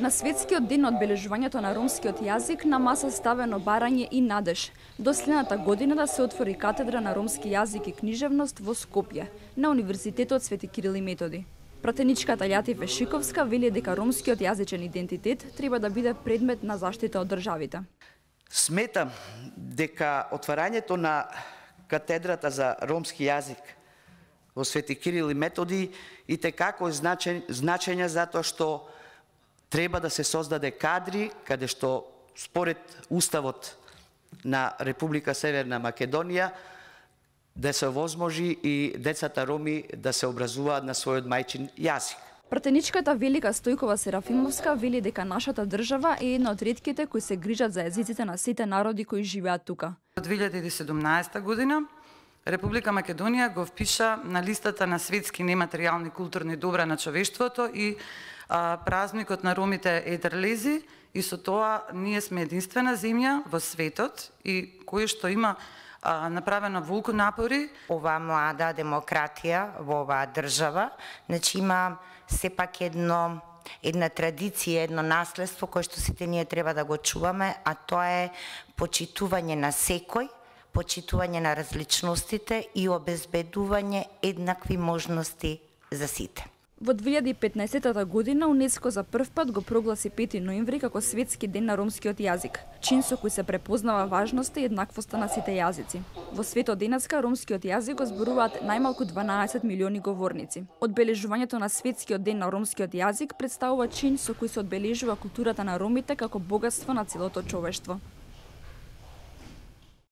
На светскиот ден на одбележувањето на ромскиот јазик на маса ставено барање и надеж до следната година да се отвори катедра на ромски јазик и книжевност во Скопје, на Универзитетот Свети Кирил и Методи. Пратеничката Лјати Вешиковска вели дека ромскиот јазичен идентитет треба да биде предмет на заштита од државите. Сметам дека отварањето на катедрата за ромски јазик во Свети Кирил и Методи и текако е значење затоа што треба да се создаде кадри каде што според Уставот на Република Северна Македонија да се овозможи и децата роми да се образуваат на својот мајчин јазик. Пратеничката Велика Стојкова Серафимовска вели дека нашата држава е една од ретките кои се грижат за јазиците на сите народи кои живеат тука. Од 2017 година Република Македонија го впиша на листата на светски нематеријални културни добра на човештвото и празникот на ромите Едерлези, и со тоа ние сме единствена земја во светот и кој што има направено волку напори. Ова млада демократија во оваа држава, значи има сепак една традиција, едно наследство кое што сите ние треба да го чуваме, а тоа е почитување на секој, почитување на различностите и обезбедување еднакви можности за сите. Во 2015 година УНЕСКО за прв пат го прогласи 5 ноември како Светски ден на ромскиот јазик, чин со кој се препознава важноста и еднаквоста на сите јазици. Во светот денеска ромскиот јазик го зборуваат најмалку 12 милиони говорници. Одбележувањето на Светскиот ден на ромскиот јазик представува чин со кој се одбележува културата на ромите како богатство на целото човештво.